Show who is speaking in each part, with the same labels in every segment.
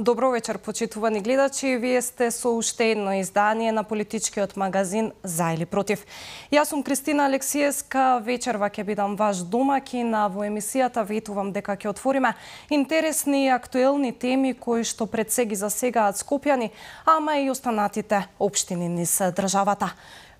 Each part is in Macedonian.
Speaker 1: Добро вечер, почитувани гледачи. Вие сте со уште едно издание на политичкиот магазин За или против. Јас сум Кристина Алексиевска, вечерва ќе бидам ваш домакин, а во емисијата ветувам дека ќе отвориме интересни и актуелни теми кои што пред се ги засегаат скопјани, ама и останатите општини низ државата.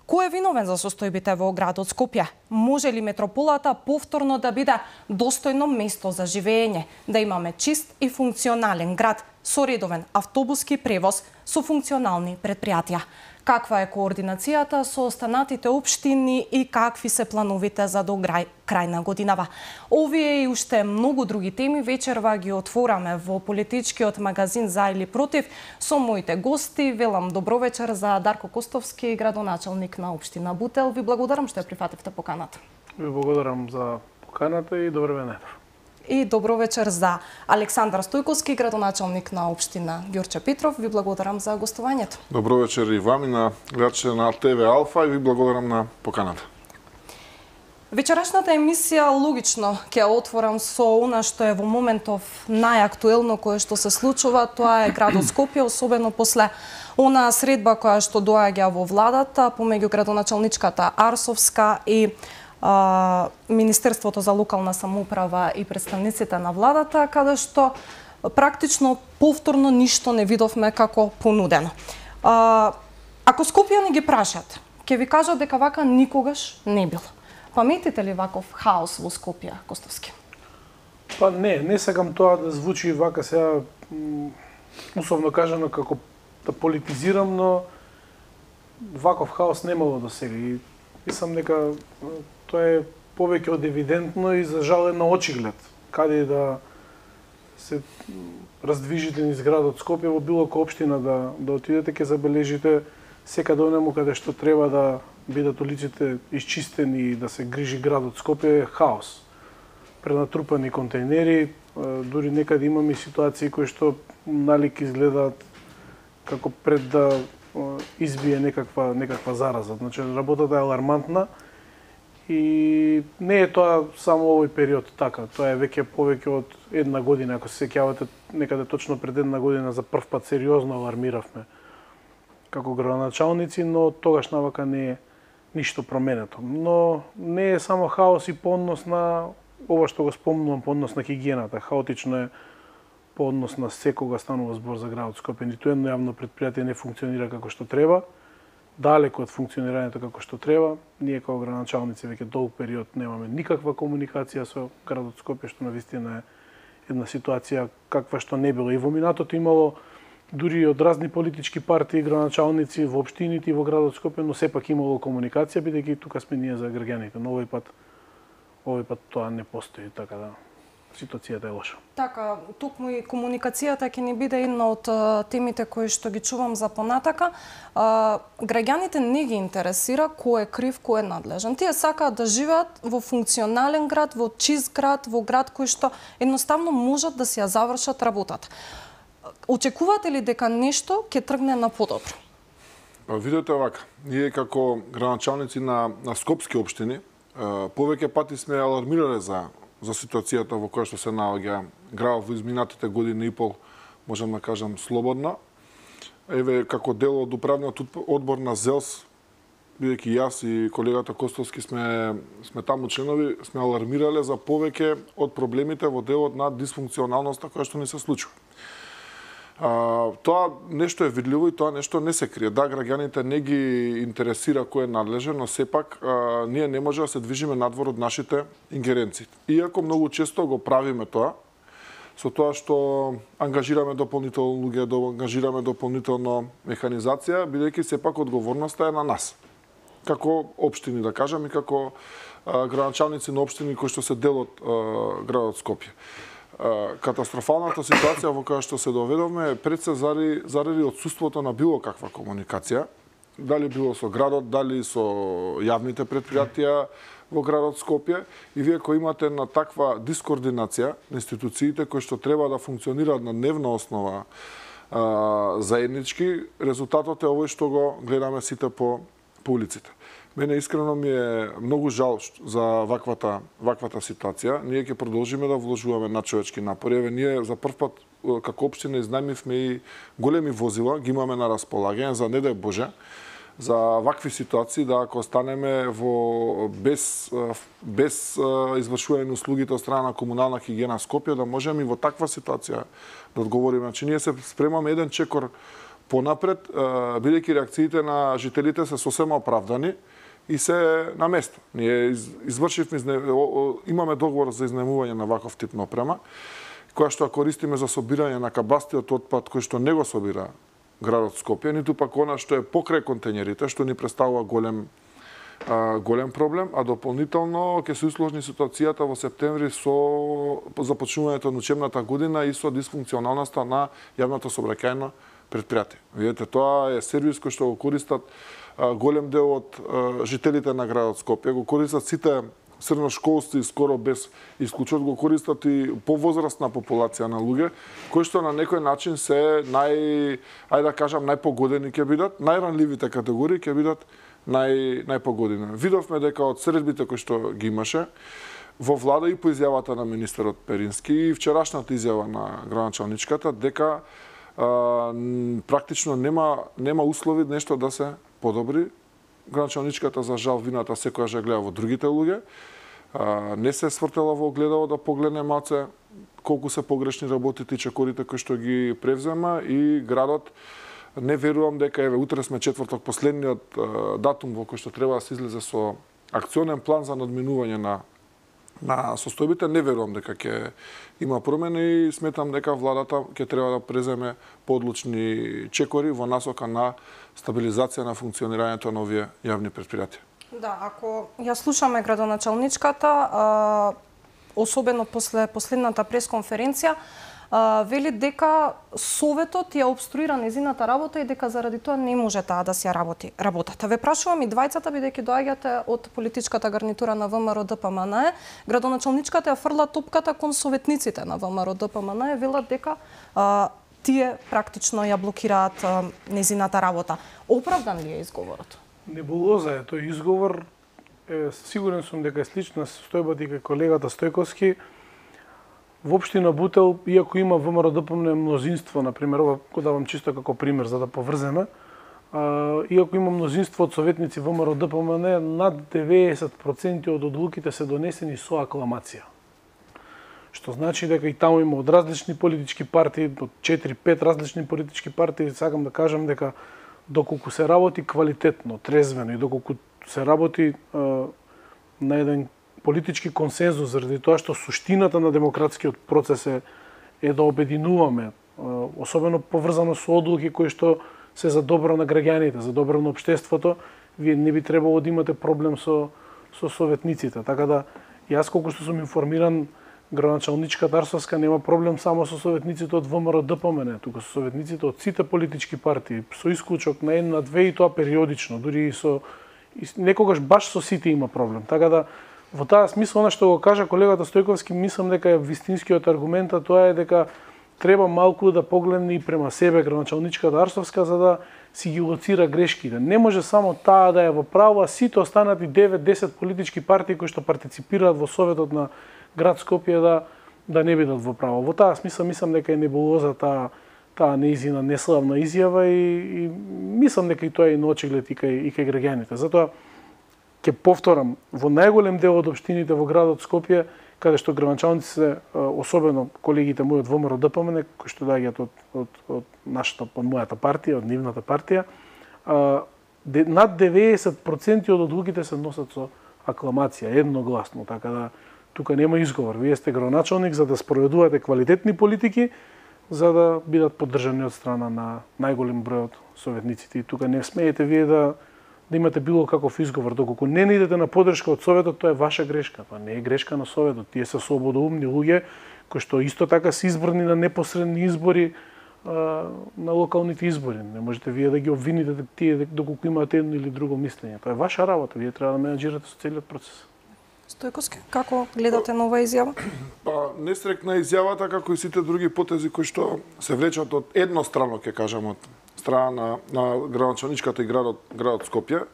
Speaker 1: Кој е виновен за состојбите во градот Скопје? Може ли метрополата повторно да биде достојно место за живење, да имаме чист и функционален град со редовен автобуски превоз со функционални предпријатија? Каква е координацијата со останатите општини и какви се плановите за до крај на годинава? Овие и уште многу други теми вечерва ги отвораме во политичкиот магазин За или против со моите гости. Велам добро вечер за Дарко Костовски, градоначалник на општина Бутел. Ви благодарам што ја прифативте поканата.
Speaker 2: Ви благодарам за поканата и добро венер.
Speaker 1: И добро вечер за Александар Стојковски, градоначалник на општина Ѓорче Петров. Ви благодарам за гостувањето.
Speaker 3: Добро вечер и вам и на гледачите на ТВ Алфа и ви благодарам на поканата.
Speaker 1: Вечерашната емисија логично ќе отворам со она што е во моментов најактуелно кое што се случува, тоа е градот Скопје, особено после она средба која што доаѓа во владата помеѓу градоначалничката Арсовска и Министерството за локална самоуправа и представниците на владата, каде што практично повторно ништо не видовме како понудено. Ако скопјани ги прашат, ќе ви кажат дека вака никогаш не било. Паметите ли ваков хаос во Скопје, Костовски?
Speaker 2: Па не сакам тоа да звучи вака сега условно кажано како да политизирам, но ваков хаос немало до сега и мислам дека тоа е повеќе од евидентно и за жал на очиглед. Каде да се раздвижите низ градот Скопје, во било која општина да отидете, ќе забележите секаде онаму каде што треба да бидат улиците исчистени и да се грижи градот Скопје, е хаос. Пренатрупани контейнери, дури некаде имаме ситуации кои што налик изгледаат како пред да избие некаква зараза. Значи, работата е алармантна и не е тоа само овој период така. Тоа е веќе повеќе од една година. Ако се сеќавате, некаде точно пред една година за прв пат сериозно алармиравме како градоначалници, но тогаш навака не е ништо променето. Но не е само хаос и по однос на ова што го спомнувам, по однос на хигиената. Хаотично е по однос на секога станува збор за градот Скопје. Ниту едно јавно предпријатие не функционира како што треба, далеку од функционирањето како што треба. Ние како градоначалници веќе долг период немаме никаква комуникација со градот Скопје, што навистина е една ситуација каква што не било. И во минатото имало дури од разни политички партии, градоначалници во општините и во градот Скопје, но сепак имало комуникација, бидејќи тука сме ние за граѓаните. Но овој пат тоа не постои, така да ситуацијата е лоша.
Speaker 1: Така, токму и комуникацијата ќе ни биде една од темите кои што ги чувам за понатака. Граѓаните не ги интересира кој е крив, кој е надлежен. Тие сакаат да живеат во функционален град, во чист град, во град кој што едноставно можат да си ја завршат работата. Очекувате ли дека нешто ќе тргне на подобро?
Speaker 3: Видете овака, ние како градоначалници на скопски општини повеќе пати сме алармирале за ситуацијата во која што се наоѓа градот во изминатите години и пол, можам да кажам слободно. Еве, како дел од управниот одбор на ЗЕЛС, бидејќи јас и колегата Костовски сме таму членови, сме алармирале за повеќе од проблемите во делот на дисфункционалноста која што ни се случува. Тоа нешто е видливо и тоа нешто не се крие. Да, граѓаните не ги интересира кој е надлежен, но сепак ние не може да се движиме надвор од нашите ингеренции. Иако многу често го правиме тоа, со тоа што ангажираме дополнително луѓе, ангажираме дополнително механизација, бидејќи сепак одговорноста е на нас. Како општини, да кажам, и како градоначалници на општини кои што се дел од градот Скопје. Катастрофалната ситуација во која што се доведовме пред се заради отсуството на било каква комуникација, дали било со градот, дали со јавните предпријатија во градот Скопје, и вие кои имате на таква дискоординација на институциите кои што треба да функционираат на дневна основа заеднички, резултатот е овој што го гледаме сите по по улиците. Мене искрено ми е многу жал за ваквата ситуација. Ние ќе продолжиме да вложуваме на човечки напори. Еве ние за прв пат како општина изнајмивме и големи возила, ги имаме на располагање за не дај Боже за вакви ситуации, да ако останеме без извршување на услугите од страна на комунална хигиена Скопје, да можеме и во таква ситуација да одговориме. Значи ние се спремаме еден чекор понапред, бидејќи реакциите на жителите се сосема оправдани и се на место. Ние имаме договор за изнајмување на ваков тип на опрема, која што користиме за собирање на кабастиот отпад кој што не го собира градот Скопје, ниту пак она што е покрај контејнерите, што ни представува голем проблем, а дополнително ќе се усложни ситуацијата во септември со започнувањето на учебната година и со дисфункционалноста на јавното сообраќајно предпријатие. Видете, тоа е сервис кој што го користат голем дел од жителите на градот Скопје, го користат сите средношколци скоро без исклучок, го користат и повозрастна популација на луѓе, кои што на некој начин се најпогодени ќе бидат, најранливите категории ќе бидат најпогодени. Видовме дека од средбите кои што ги имаше во влада и по изјавата на министерот Перински и вчерашната изјава на градоначалничката дека практично нема услови нешто да се подобри. Градоначалничката за жал вината секојаш ја гледа во другите луѓе. Не се свртела во огледало да погледне малце колку се погрешни работите и чекорите кои што ги превзема и градот не верувам дека еве утре сме четврток последниот датум во кој што треба да се излезе со акционен план за надминување на состојбите, не верувам дека ќе има промени и сметам дека владата ќе треба да преземе подлучни чекори во насока на стабилизација на функционирањето на овие јавни предпријатија.
Speaker 1: Да, ако ја слушаме градоначалничката, особено после последната пресконференција, вели дека Советот ја обструира незината работа и дека заради тоа не може таа да се работи работата. Ве прашувам и двајцата, бидејќи доаѓате од политичката гарнитура на ВМРО ДПМН. Градоначалничката ја фрла топката кон советниците на ВМРО ДПМН и велат дека тие практично ја блокираат незината работа. Оправдан ли е изговорот?
Speaker 2: Небулоза е тој изговор. Сигурен сум дека е слична состојбата и кај колегата Стојковски. Во општина Бутел, иако има ВМРО ДПМН мнозинство, например, ова го давам чисто како пример за да поврземе, иако има мнозинство од советници ВМРО ДПМН, над 90% од одлуките се донесени со акламација. Што значи дека и таму има од различни политички партии, од 4-5 различни политички партии, сакам да кажам дека доколку се работи квалитетно, трезвено и доколку се работи на еден политички консензус, заради тоа што суштината на демократскиот процес е да обединуваме, особено поврзано со одлуки кои што се за добро на граѓаните, за добро на општеството, вие не би требало да имате проблем со советниците. Така да, јас колку што сум информиран, градоначалничката Арсовска нема проблем само со советниците од ВМРО ДПМН, туку со советниците од сите политички партии, со исклучок на една, две и тоа периодично, дури и некогаш баш со сите има проблем. Така да, во таа смисла, она што го кажа колегата Стојковски, мислам дека е вистинскиот аргумент, а тоа е дека треба малку да погледне и према себе градоначалничката Арсовска за да си ги лоцира грешките. Не може само таа да е во право, а сите останати 9-10 политички партии кои што партиципираат во Советот на град Скопје да не бидат во право. Во таа смисла мислам дека е небулоза таа неизина неславна изјава и мислам дека и тоа е на очиглед и кај граѓаните. Затоа ќе повторам, во најголем дел од општините во градот Скопје, каде што градоначалниците, особено колегите мои од ВМРО ДПМН, кои што доаѓаат од мојата партија, од нивната партија, над 90% од одлуките се носат со акламација, едногласно, така да тука нема изговор. Вие сте градоначалник за да спроведувате квалитетни политики, за да бидат поддржани од страна на најголем број од советниците. И тука не смеете вие да имате било каков изговор. Доколку не идете на поддршка од Советот, тоа е ваша грешка. Тоа не е грешка на Советот. Тие се слободоумни луѓе кои што исто така се избрани на непосредни избори, на локалните избори. Не можете вие да ги обвините тие доколку имаат едно или друго мислење. Тоа е ваша работа. Вие треба да менаџирате со целиот процес.
Speaker 1: Стојковски, како гледате на оваа изјава?
Speaker 3: Па, нестрекна изјавата, како и сите други потези кои што се влечат од еднострано, ќе кажам, од страна на градоначалничката и градот Скопје.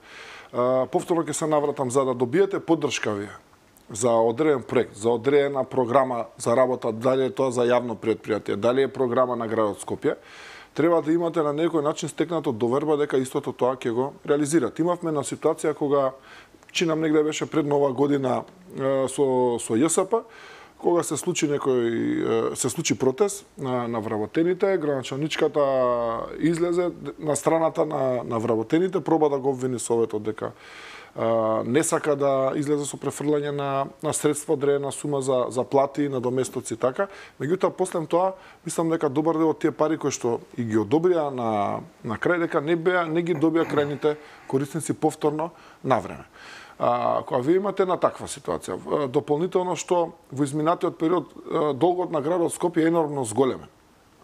Speaker 3: повторно ќе се навратам за да добиете поддршка вие за одреден проект, за одредена програма за работа, дали е тоа за јавно предпријатие, дали е програма на градот Скопје, треба да имате на некој начин стекнато доверба дека истото тоа ќе го реализират. Имавме на ситуација кога чинам негде беше пред нова година со ЈСП, кога се случи протест на вработените, градоначалничката излезе на страната на вработените, проба да го обвини Советот дека не сака да излезе со префрлање на средства, одредена сума за плати, на доместоци така. Меѓутоа, после тоа, мислам дека добар дел од тие пари кои што и ги одобрија на крај, дека не ги добија крајните корисници повторно на време. Кога вие имате на таква ситуација, дополнително што во изминатиот период долгот на градот Скопје е енормно зголемен.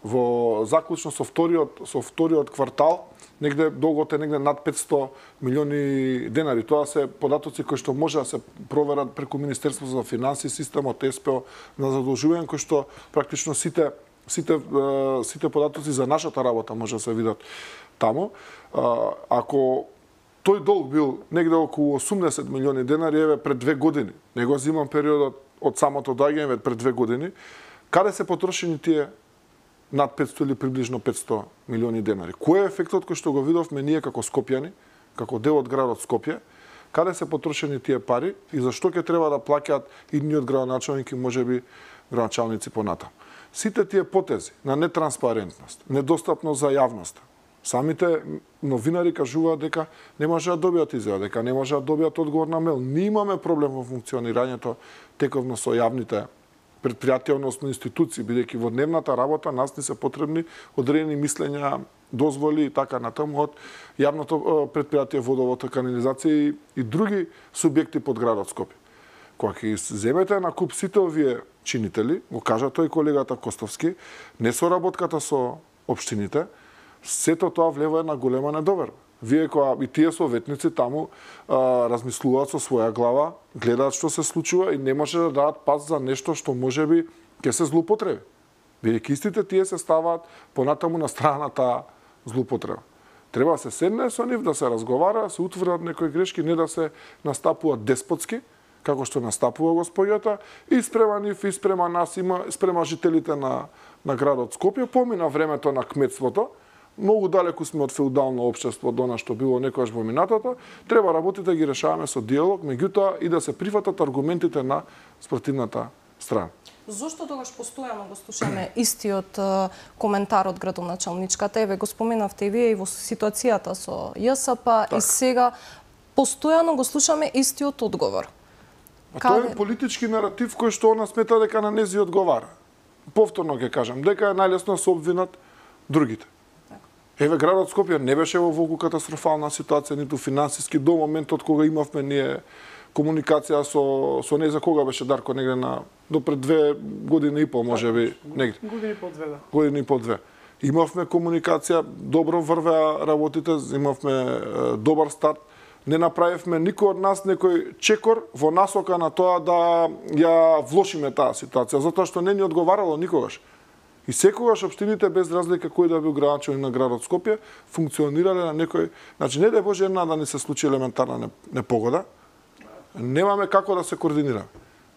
Speaker 3: Во заклучно со вториот квартал, негде долгот е негде над 500 милиони денари. Тоа се податоци кои што може да се проверат преку Министерството за финансии, системот СПО на задолжување, кои што практично сите податоци за нашата работа може да се видат таму. Ако тој долг бил негде околу 80 милиони денари, еве пред 2 години, не го земам периодот од самото доаѓање пред 2 години, каде се потрошени тие над 500 или приближно 500 милиони денари? Кој е ефектот кој што го видовме ние како скопјани, како дел од градот Скопје? Каде се потрошени тие пари и зашто ќе треба да плаќаат идниот градоначалник и можеби градоначалници понатаму? Сите тие потези на нетранспарентност, недостапност за јавноста, самите новинари кажуваат дека не може да добијат изјава, дека не може да добијат одговор на мејл. Ние имаме проблем во функционирањето тековно со јавните предпријатија, односно институции, бидејќи во дневната работа нас не се потребни одредени мислења, дозволи и така натаму од јавното предпријатие водовод, канализација и други субјекти под градот Скопје. Кога ќе земете на куп сите овие чинители, го кажа тој колегата Костовски, не соработката со општините, сето тоа влева една голема недоверба. Вие кога и тие советници таму размислуваат со своја глава, гледаат што се случува и не може да дадат пас за нешто што можеби ќе се злоупотреби. Бидејќи истите тие се ставаат понатаму на страната злоупотреба. Треба да се седне со нив, да се разговара, да се утврдат некои грешки, не да се настапуваат деспотски, како што настапува господјата, и спрема нив, и спрема нас, спрема жителите на градот Скопје. Помина времето на кметството, многу далеку сме од феудално општество до што било некогаш во минатото, треба работите да ги решаваме со диалог, меѓутоа и да се прифатат аргументите на спротивната страна.
Speaker 1: Зошто тогаш постојано го слушаме истиот коментар од градоначалничката? Еве го споменавте и вие и во ситуацијата со ЈСП, и сега постојано го слушаме истиот одговор.
Speaker 3: Тоа е политички наратив кој што она смета дека на нези одговара. Повторно ќе кажам, дека е најлесно да се обвинат другите. Еве, градот Скопје не беше во волку катастрофална ситуација, ниту финансиски, до моментот кога имавме ние комуникација со не за кога беше Дарко, негде до пред 2 години и пол, можеби, негде.
Speaker 2: Години и пол, две, да.
Speaker 3: Години и пол, две. Имавме комуникација, добро врвеа работите, имавме добар старт. Не направивме никој од нас некој чекор во насока на тоа да ја влошиме таа ситуација, затоа што не ни одговарало никогаш. И секогаш општините, без разлика кој да бил градоначалник на градот Скопје, функционирале на некој... Значи, не дај Боже една да ни се случи елементарна непогода, немаме како да се координираме.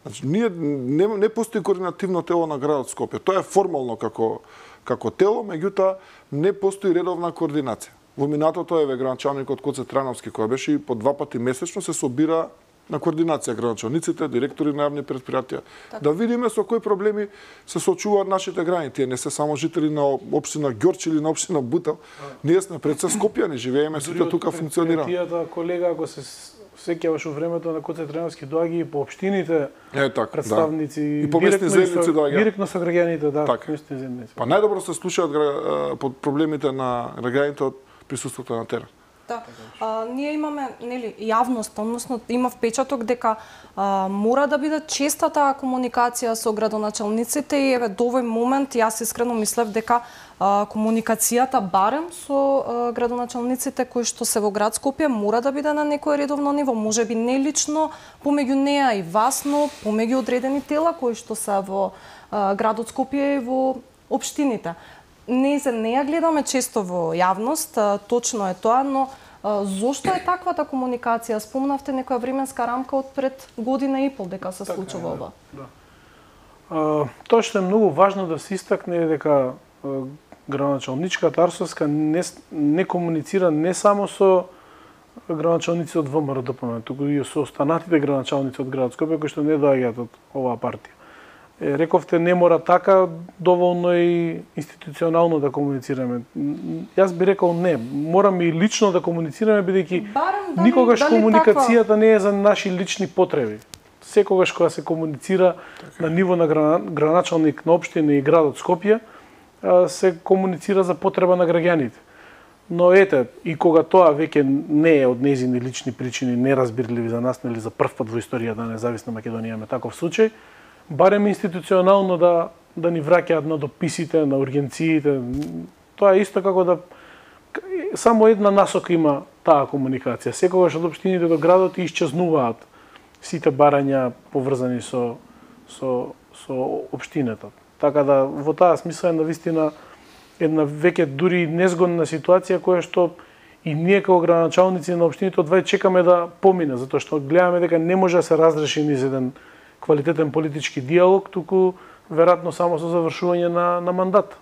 Speaker 3: Значи, не постои координативно тело на градот Скопје. Тоа е формално како тело, меѓутоа не постои редовна координација. Во минатото еве градоначалникот Коце Трановски, кој беше и по 2 пати месечно, се собира на координација градоначалниците, директори на јавни предпријатија, да видиме со кои проблеми се соочуваат нашите граѓани. Тие не се само жители на општина Ѓорче или на општина Бутел. Ние сме пред се Скопјани, живееме, сите тука функционираме.
Speaker 2: Предпријатијата, колега, ако се сеќаваш во времето на Коце Трановски, доаѓа и по општините, представници,
Speaker 3: и по местни заедници доаѓа.
Speaker 2: Директно со граѓаните, да,
Speaker 3: местни заедници. Па најдобро се слушаат под проблемите на граѓаните од присуството на терен.
Speaker 1: Да. Ние имаме, нели, јавност, односно има впечаток дека мора да биде честа таа комуникација со градоначалниците и еве до овој момент јас искрено мислев дека комуникацијата барем со градоначалниците кои што се во град Скопје мора да биде на некое редовно ниво, можеби не лично помеѓу неа и вас, но помеѓу одредени тела кои што се во градот Скопје и во општините. Не ја гледаме често во јавност, точно е тоа, но Зошто е таквата комуникација? Спомнавте некоја временска рамка од пред година и пол дека се случува ова.
Speaker 2: Да. Тоа што е многу важно да се истакне е дека градоначалничката Арсовска не комуницира не само со градоначалници од ВМРО-ДПМНЕ, туку и со останатите градоначалници од градот Скопје кои што не доаѓаат од оваа партија. Рековте не мора така, доволно и институционално да комуницираме. Јас би рекол не, мораме и лично да комуницираме бидејќи никогаш комуникацијата не е за наши лични потреби. Секогаш кога се комуницира на ниво на градоначалник на општина и градот Скопје, се комуницира за потреба на граѓаните. Но ете, и кога тоа веќе не е од нејзини лични причини, неразбирливи за нас, нели за прв пат во историјата на независна Македонија имаме таков случај, барем институционално да ни враќаат на дописите, на ургенциите. Тоа е исто како да само една насока има таа комуникација. Секогаш од општините до градот исчезнуваат сите барања поврзани со општината. Така да во таа смисла е навистина една веќе дури незгодна ситуација која што и ние како градоначалници на општините одвај чекаме да помине, затоа што гледаме дека не може да се разреши низ еден квалитетен политички диалог, туку веројатно само со завршување на мандат.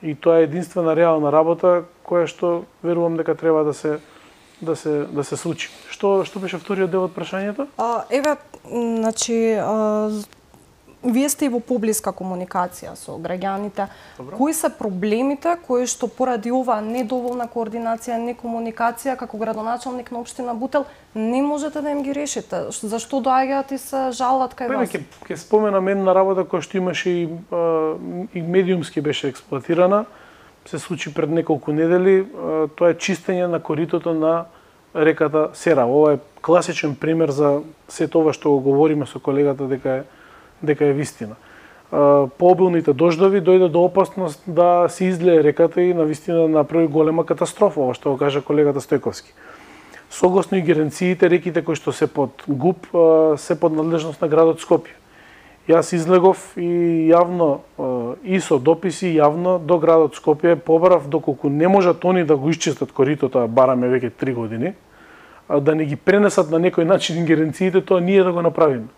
Speaker 2: И тоа е единствена реална работа која што верувам дека треба да се случи. Што беше вториот дел од прашањето?
Speaker 1: Еве, значи вие сте и во поблиска комуникација со граѓаните. Добро. Кои се проблемите кои што поради оваа недоволна координација, некомуникација како градоначалник на општина Бутел не можете да им ги решите? Зашто доаѓаат и се жалат кај вас?
Speaker 2: Ќе споменам една работа која што имаше и медиумски беше експлоатирана. Се случи пред неколку недели. Тоа е чистење на коритото на реката Сера. Ова е класичен пример за сето ова што го говориме со колегата дека е вистина. По обилните дождови дојде до опасност да се излее реката и навистина направи голема катастрофа, ова што го кажа колегата Стојковски. Согласно ингеренциите, реките кои што се под ГУП се под надлежност на градот Скопје. Јас излегов и јавно и со дописи јавно до градот Скопје побарав доколку не можат они да го исчистат коритото, бараме веќе 3 години, да не ги пренесат на некој начин ингеренциите, тоа ние да го направиме.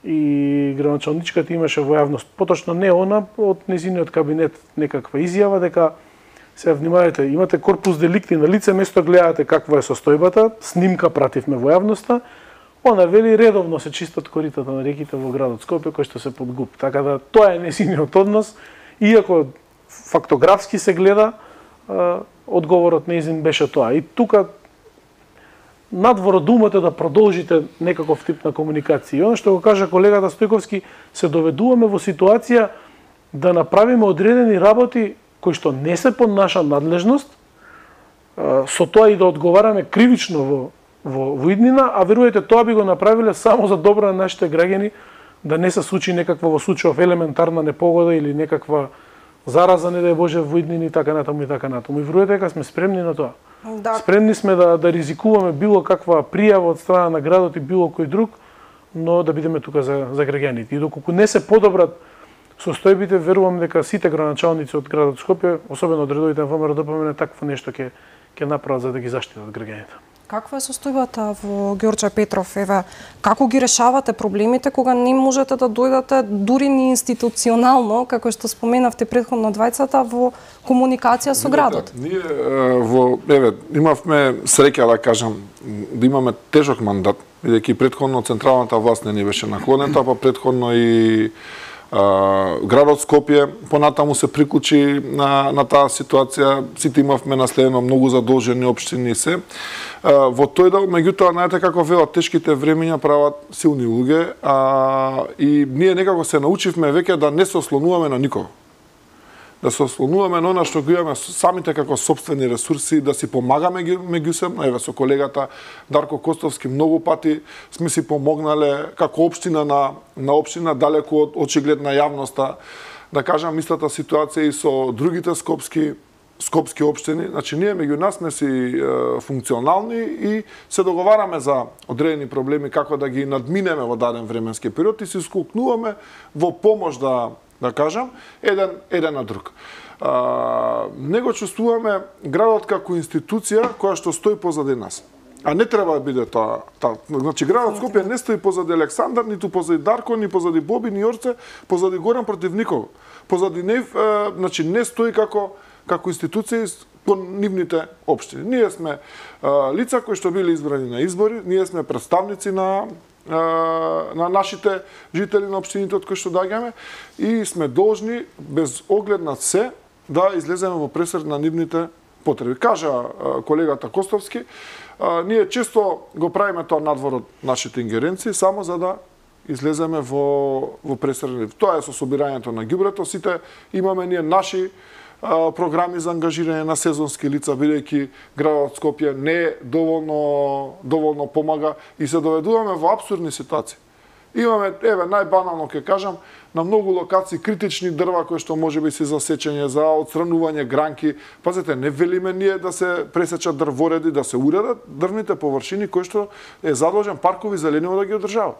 Speaker 2: И градоначалничката имаше во јавност, поточно не она, од нејзиниот кабинет некаква изјава дека се внимавајте, имате корпус деликти на лице место, гледате каква е состојбата, снимка пративме во јавноста, она вели редовно се чистат коритата на реките во градот Скопје кои што се под ГУП. Така да тоа е нејзиниот однос, иако фактографски се гледа, одговорот нејзин беше тоа. И тука надвор од умот е да продолжите некаков тип на комуникација. И оно што го кажа колегата Стојковски, се доведуваме во ситуација да направиме одредени работи кои што не се под наша надлежност, со тоа и да одговараме кривично во иднина, а верувате тоа би го направиле само за добро на нашите граѓани, да не се случи некаква во случајов елементарна непогода или некаква зараза, не дај Боже, во иднини и така натаму и така натаму. И верувате дека сме спремни на тоа. Да. Спремни сме да ризикуваме било каква пријава од страна на градот и било кој друг, но да бидеме тука за граѓаните. И доколку не се подобрат состојбите, верувам дека сите градоначалници од градот Скопје, особено од редовите на ВМРО-ДПМНЕ, такво нешто ќе направат за да ги заштитат граѓаните.
Speaker 1: Каква е состојбата во Ѓорче Петров? Еве, како ги решавате проблемите кога не можете да дојдете дури ни институционално, како што споменавте претходно двајцата, во комуникација со градот?
Speaker 3: Ние имавме среќа да кажам да имаме тежок мандат, бидејќи претходно централната власт не ни беше наклонета, па претходно и градот Скопје понатаму се приклучи на таа ситуација, сите имавме наследено многу задолжени општини се. Во тој дел, меѓутоа, знаете како велат, тешките времења прават силни луѓе, и ние некако се научивме веќе да не се ослонуваме на никого. Да се ослонуваме на она што го имаме самите како сопствени ресурси, да си помагаме меѓусебно. Еве со колегата Дарко Костовски многу пати сме си помогнале како општина на општина далеку од очиглед на јавноста. Да кажам истата ситуација и со другите скопски општини. Значи ние меѓу нас сме си функционални и се договараме за одредени проблеми како да ги надминеме во даден временски период и се сколкнуваме во помош да кажам, еден на друг. Не го чувствуваме градот како институција која што стои позади нас. А не треба да биде тоа. Значи, градот Скопје не стои позади Александар, ниту позади Дарко, ни позади Боби, ни Јорце, позади Горан против никого. Позади нив, значи, не стои како институција кон нивните општини. Ние сме лица кои што биле избрани на избори, ние сме представници на нашите жители на општините од кои што доаѓаме и сме должни, без оглед на се, да излеземе во пресред на нивните потреби. Кажа колегата Костовски, ние често го правиме тоа надвор од нашите ингеренции, само за да излеземе во пресред. Тоа е со собирањето на ѓубрето. Сите имаме ние наши програми за ангажирање на сезонски лица, бидејќи градот Скопје не доволно помага и се доведуваме во апсурдни ситуации. Имаме, најбанално ќе кажам, на многу локации критични дрва кои што можеби се за сечење, за отстранување гранки. Пазете, не велиме ние да се пресечат дрвореди, да се уредат дрвните површини кои што е задолжен паркови зелениво да ги одржава.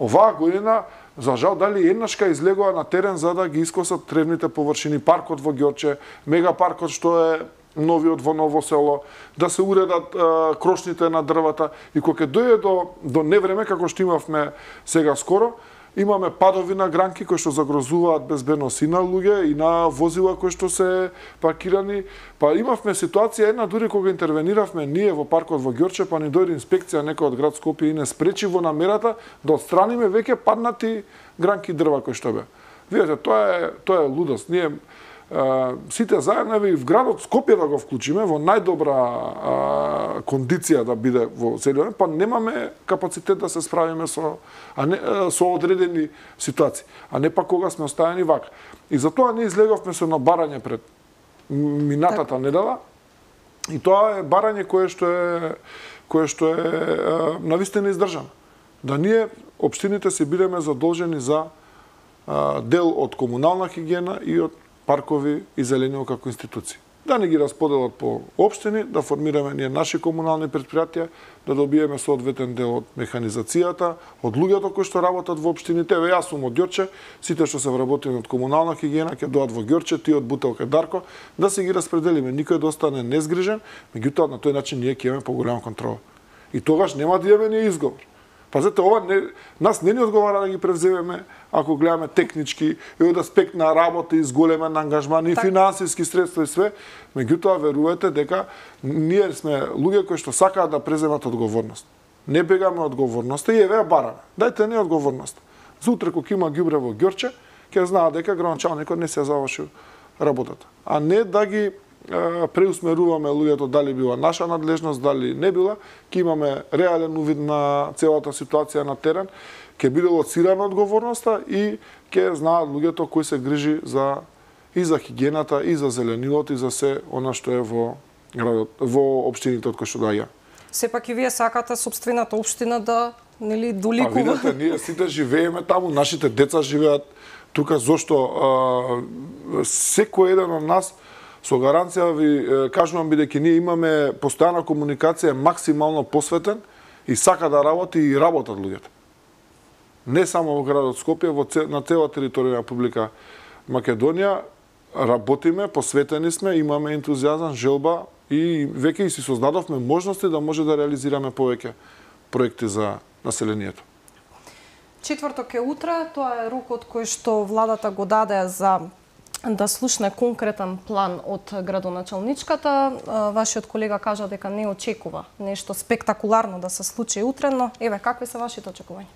Speaker 3: Оваа година, за жал, дали еднашка излегува на терен за да ги искосат тревните површини, паркот во Ѓорче, мегапаркот што е новиот во Ново село, да се уредат крошните на дрвата и кога ќе дојде до невреме како што имавме сега скоро, имаме падови на гранки кои што загрозуваат безбедност и на луѓе и на возила кои што се паркирани. Па имавме ситуација една дури кога интервениравме ние во паркот во Ѓорче, па ни дојде инспекција некој од град Скопје и не спречи во намерата да отстраниме веќе паднати гранки дрва кои што бе. Видете, тоа е лудост. Ние сите заедно и в градот Скопје да го вклучиме во најдобра кондиција да биде во целиот, па немаме капацитет да се справиме со одредени ситуации, а не па кога сме оставени вака. И затоа ние излеговме со барање пред минатата недела, и тоа е барање кое што е навистина издржано. Да ние општините се бидеме задолжени за дел од комунална хигиена и од паркови и зелениво како институции. Да не ги расподелат по општини, да формираме ние наши комунални предпријатија, да добиеме соодветен дел од механизацијата, од луѓето кои што работат во општините. Еве јас сум од Ѓорче, сите што се вработени од комунална хигиена ќе дојдат во Ѓорче, ти од Бутелка Дарко, да се ги распределиме, никој да остане незгрижен, меѓутоа на тој начин ние ќе имаме поголема контрола. И тогаш нема да имаме ни изговор. Пазете, нас не ни одговара да ги превземеме, ако гледаме технички, и од аспект на работа и зголемен ангажман и финансиски средства и све, меѓутоа верувате дека ние сме луѓе кои што сакаат да преземат одговорност. Не бегаме одговорноста и еве бараме. Дајте не одговорност. За утре кога има ѓубре во Ѓорче, ќе знаат дека градоначалникот не се завршил работата. А не да ги преусмеруваме луѓето дали била наша надлежност, дали не била, ќе имаме реален увид на целата ситуација на терен, ќе биде лоцирана одговорноста и ќе знаат луѓето кои се грижи и за хигиената, и за зеленилот, и за се она што е во градот, во општините од кои што доаѓа.
Speaker 1: Сепак и вие сакате сопствената општина да доликува.
Speaker 3: Видете, ние сите живееме таму, нашите деца живеат тука, зошто секој еден од нас со гаранција ви кажувам, бидејќи ние имаме постојана комуникација, максимално посветен и сака да работи и работат луѓето. Не само во градот Скопје, на цела територија на Република Македонија работиме, посветени сме, имаме ентузијазам, желба и веќе и си создадовме можности да може да реализираме повеќе проекти за населението.
Speaker 1: Четврток е утре, тоа е рокот кој што владата го даде за да слушне конкретен план од градоначалничката. Вашиот колега кажа дека не очекува нешто спектакуларно да се случи утре, но еве, какви се вашите очекувања?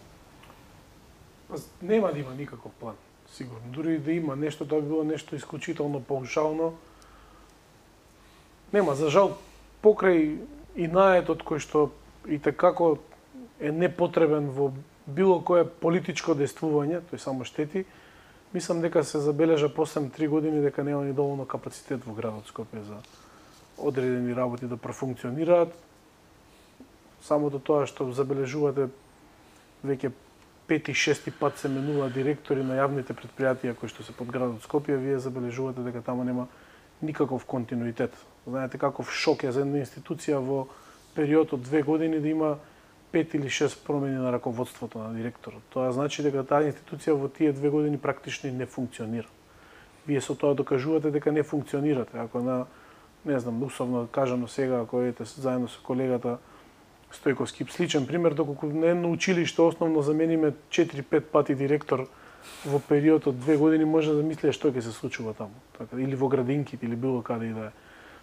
Speaker 2: Нема да има никаков план, сигурно. Дури да има нешто, тоа би било нешто исклучително паушално. Нема, за жал, покрај и наетот кој што и такако е непотребен во било кое политичко действување, тој само штети, мислам дека се забележа после 3 години дека нема ни доволно капацитет во градот Скопје за одредени работи да профункционираат. Самото тоа што забележувате веќе 5-6 пат се менува директори на јавните предпријатија кои што се под градот Скопје, вие забележувате дека таму нема никаков континуитет. Знаете каков шок е за една институција во период од 2 години да има 5 или 6 промени на раководството на директорот. Тоа значи дека таа институција во тие 2 години практично не функционира. Вие со тоа докажувате дека не функционирате. Ако не знам, условно кажано сега, ако едете заедно со колегата Стојковски, сличен пример, доколку на едно училиште основно замениме 4-5 пати директор во период од 2 години, може да мислите што ќе се случува таму. Така, или во градинките, или било каде и да е.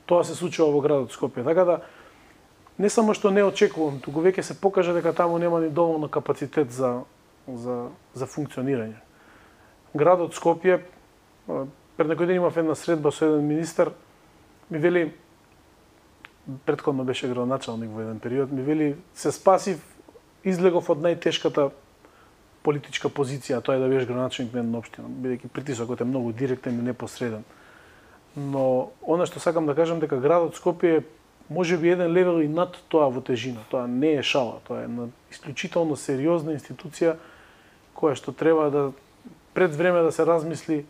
Speaker 2: Тоа се случува во градот Скопје. Така да, не само што не очекувам, туку веќе се покажа дека таму нема ни доволно капацитет за функционирање. Градот Скопје, пред некој ден имав една средба со еден министер, ми вели, претходно беше градоначалник во еден период, ми вели, се спасив, излегов од најтешката политичка позиција, тоа е да бидеш градоначалник на една општина, бидејќи притисокот е многу директен и непосреден. Но она што сакам да кажам дека градот Скопје е можеби еден левел и над тоа во тежина. Тоа не е шала, тоа е една исклучително сериозна институција која што треба да пред време да се размисли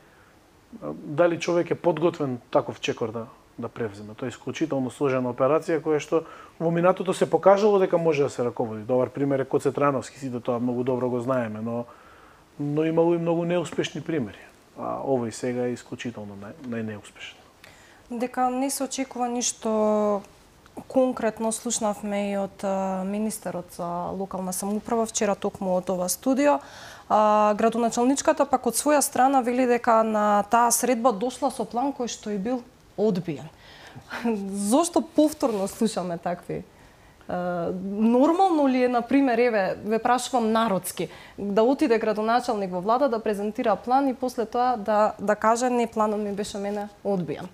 Speaker 2: дали човек е подготвен таков чекор да превземе. Тоа е исклучително сложена операција која што во минатото се покажало дека може да се раководи. Добар пример е Коце Трановски, сите тоа многу добро го знаеме, но имало и многу неуспешни примери. А овој сега е исклучително најнеуспешен.
Speaker 1: Дека не се очекува ништо конкретно, слушнавме и од министерот за локална самоуправа вчера токму од ова студио. Градоначалничката пак од своја страна вели дека на таа средба дошла со план кој што и бил одбиен. Зошто повторно слушаме такви? Нормално ли е, например, еве, ве прашувам народски, да отиде градоначалник во влада да презентира план и после тоа да каже не, планот ми беше мене одбиен?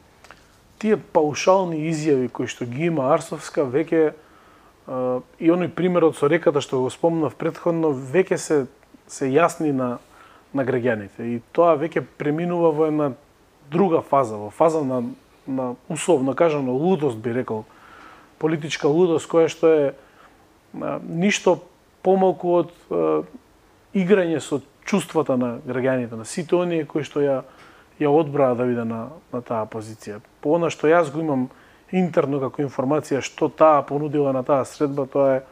Speaker 2: Тие паушални изјави кои што ги има Арсовска веќе и оној примерот со реката што го спомнав претходно веќе се јасни на граѓаните и тоа веќе преминува во една друга фаза, во фаза на условно кажано лудост, би рекол, политичка лудост која што е ништо помалку од играње со чувствата на граѓаните, на сите оние кои што ја одбраа да биде на таа позиција. По она што јас го имам интерно како информација што таа понудила на таа средба, тоа е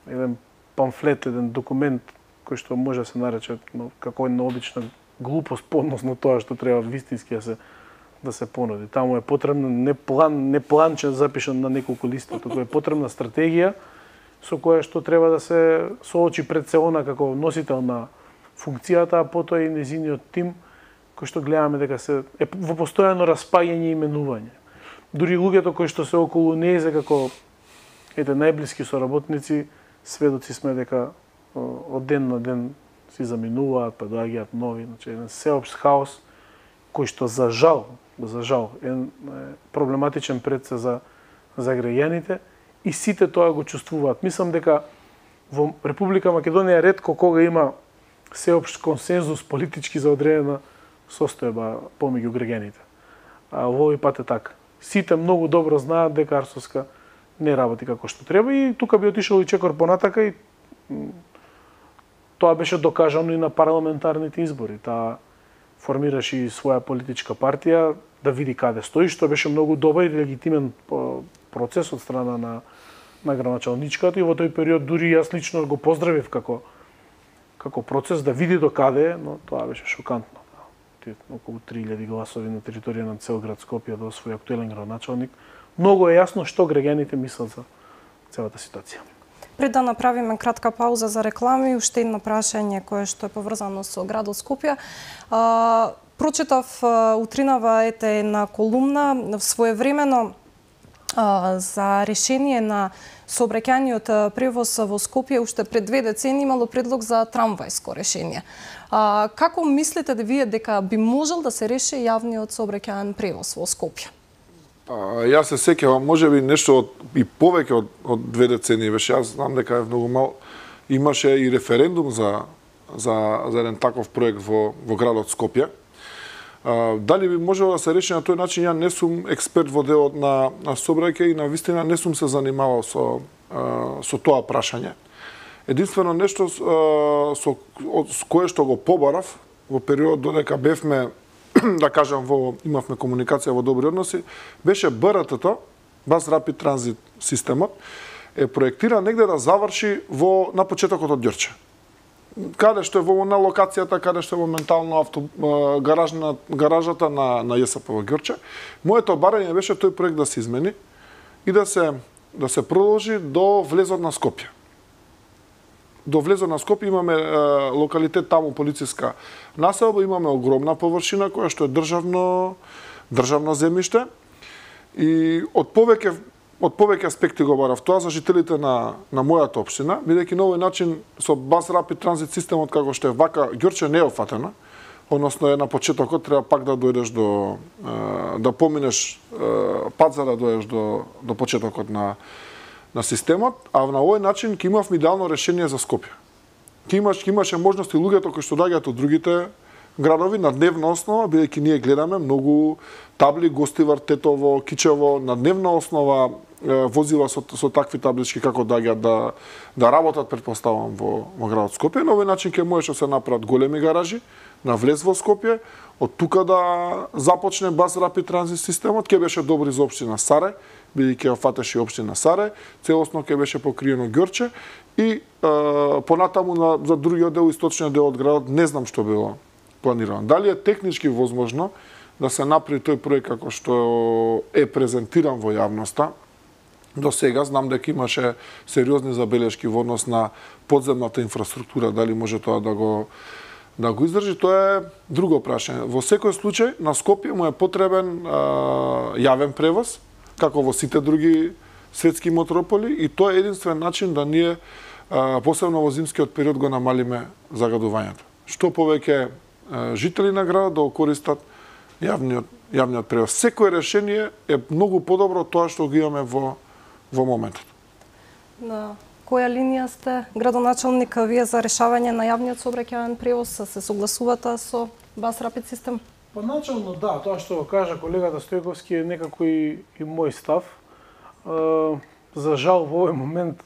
Speaker 2: еден памфлет, еден документ кој што може да се нарече како една обична глупост по однос на тоа што треба вистински да се понуди. Таму е потребно не планче запишан на неколку листа, туку е потребна стратегија со која што треба да се соочи пред се она како носител на функцијата, а потоа и незиниот тим кој што гледаме дека се е во постојано распаѓање и именување. Дури луѓето кои што се околу нејзе како најблиски соработници, сведоци сме дека од ден на ден си заминуваат, па доаѓаат нови, значи еден сеопшт хаос кој што за жал е проблематичен пред се за граѓаните и сите тоа го чувствуваат. Мислам дека во Република Македонија ретко кога има сеопшт консензус политички за одредена состојба помеѓу граѓаните. А во овој пат е така. Сите многу добро знаат дека Арсовска не работи како што треба и тука би отишол и чекор понатака и тоа беше докажано и на парламентарните избори. Таа формираше и своја политичка партија да види каде стои, што беше многу добар и легитимен процес од страна на градоначалничката и во тој период дури јас лично го поздравив како процес да види до каде, но тоа беше шокантно. Околу 3000 гласови на територија на цел град Скопје да освои актуелен градоначалник. Многу е јасно што граѓаните мислат за целата ситуација.
Speaker 1: Пред да направиме кратка пауза за реклами, уште едно прашање кое што е поврзано со градот Скопје. Прочитав утринава една колумна своевремено за решение на сообраќајниот превоз во Скопје уште пред 2 децени имало предлог за трамвајско решение. Како мислите да вие дека би можел да се реши јавниот сообраќајен превоз во Скопје?
Speaker 3: Јас се сеќавам, можеби нешто и повеќе од 2 децени беше. Јас знам дека е многу мал. Имаше и референдум за еден таков проект во градот Скопје. Дали би можело да се реши на тој начин, ја не сум експерт во делот на сообраќај и на вистина не сум се занимавал со тоа прашање. Единствено нешто со кое што го побарав во период додека бевме, да кажам, имавме комуникација во добри односи, беше БРТ-то, Bus Rapid Transit системот, е проектиран негде да заврши на почетокот од Ѓорче. каде што е на локацијата, каде што е моментално гаражата на ЈСП во Ѓорче. Моето барање беше тој проект да се измени и да се продолжи до влезот на Скопје. До влезот на Скопје имаме локалитет таму полициска населба, имаме огромна површина која што е државно земјиште и од повеќе аспекти го барав тоа за жителите на мојата општина, бидејќи на овој начин со Bus Rapid Transit системот како што е вака Ѓорче не е офатена, односно на почетокот треба пак да дојдеш да поминеш пат за да дојдеш до почетокот на системот, а на овој начин ќе имавме идеално решение за Скопје. Ќе имаше можности луѓето кои што доаѓаат од другите градови на дневна основа, бидејќи ние гледаме многу табли Гостивар, Тетово, Кичево, на дневна основа возила со такви таблички како доаѓаат да работат, претпоставам, во градот Скопје. На овој начин ќе можеше да се направат големи гаражи на влез во Скопје, од тука да започне Bus Rapid Transit системот, ќе беше добри за општина Сарај, бидејќи ја фатеше општина Сарај, целосно ќе беше покриено Ѓорче и понатаму за другиот дел, источниот дел од градот, не знам што било планирано. Дали е технички возможно да се направи тој проект како што е презентиран во јавноста? До сега знам дека имаше сериозни забелешки во однос на подземната инфраструктура, дали може тоа да го издржи, тоа е друго прашање. Во секој случај на Скопје му е потребен јавен превоз, како во сите други светски метрополи, и тоа е единствен начин да ние, посебно во зимскиот период, го намалиме загадувањето. Што повеќе жители на градот да користат јавниот превоз. Секое решение е многу подобро од тоа што го имаме во моментот.
Speaker 1: На која линија сте градоначалник вие за решавање на јавниот сообраќајен превоз? Се согласувате со Bus Rapid систем?
Speaker 2: Поначално да, тоа што го кажа колегата Стојковски е некако и мој став. За жал во овој момент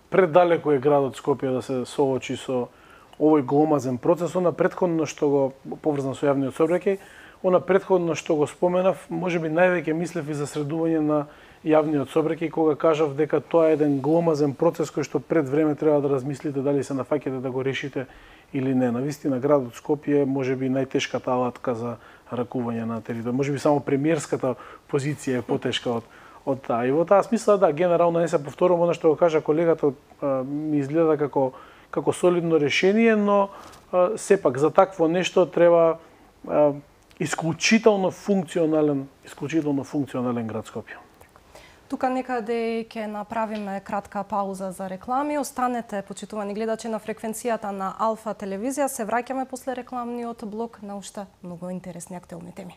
Speaker 2: предалеко е градот Скопје да се соочи со овој гломазен процес. Она претходно што го поврзан со јавниот сообраќај, она претходно што го споменав, можеби највеќе мислев и за средување на јавниот сообраќај, кога кажав дека тоа е еден гломазен процес кој што пред време треба да размислите дали се нафаќате да го решите или не. Навистина градот Скопје е можеби најтешката алатка за ракување на територија. Можеби само премиерската позиција е потешка од таа. И во таа смисла, да, генерално не се повторувам, она што го кажа колегата ми изгледа како солидно решение, но сепак за такво нешто треба исклучително функционален град Скопје.
Speaker 1: Тука некаде ќе направиме кратка пауза за реклами. Останете, почитувани гледачи, на фреквенцијата на Алфа телевизија. Се враќаме после рекламниот блок на уште многу интересни актуелни теми.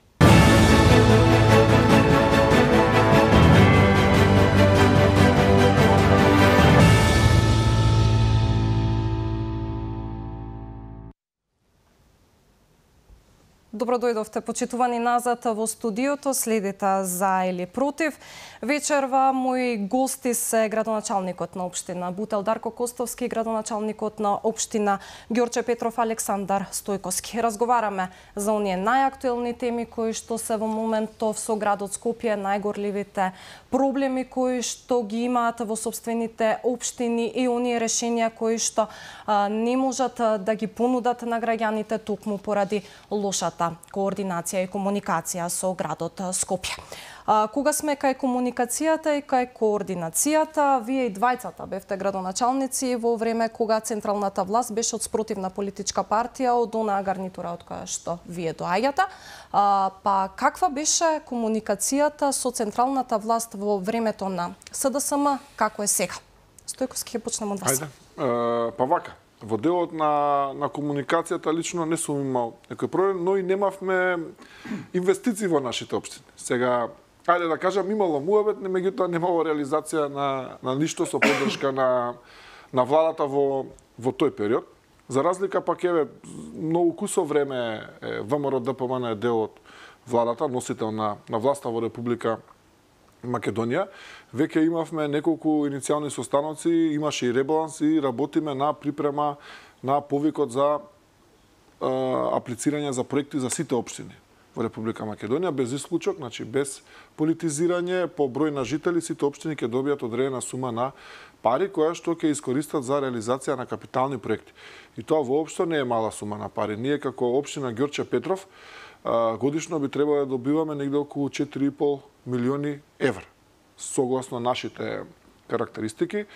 Speaker 1: Добро дојдовте, почитувани, назад во студиото. Следите за или против. Вечерва мои гости се градоначалникот на општина Бутел Дарко Костовски, градоначалникот на општина Ѓорче Петров Александар Стојковски. Разговараме за оние најактуелни теми кои што се во моментов со градот Скопје, најгорливите проблеми кои што ги имаат во сопствените општини и оние решенија кои што не можат да ги понудат на граѓаните токму поради лошата координација и комуникација со градот Скопје. Кога сме кај комуникацијата и кај координацијата, вие и двајцата бевте градоначалници во време кога централната власт беше од спротивна политичка партија од онаа гарнитура од која што вие доаѓате. Па каква беше комуникацијата со централната власт во времето на СДСМ, како е сега? Стојковски, ќе почнем од вас.
Speaker 3: Ајде, па вака. Во делот на комуникацијата лично не сум имал некој проблем, но и немавме инвестиции во нашите општини. Сега, ајде да кажам, имало муабет, меѓутоа немало реализација на ништо со поддршка на владата во тој период. За разлика пак еве многу кусо време ВМРО ДПМН е дел од владата, носител на власта во Република Македонија. Веќе имавме неколку иницијални состаноци, имаше и ребаланс и работиме на припрема на повикот за аплицирање за проекти за сите општини. во Република Македонија, без исклучок, значи без политизирање, по број на жители, сите општини ќе добијат одредена сума на пари која што ќе искористат за реализација на капитални проекти. И тоа воопшто не е мала сума на пари. Ние како општина Ѓорче Петров годишно би требало да добиваме негде околу 4,5 милиони евра, согласно нашите карактеристики.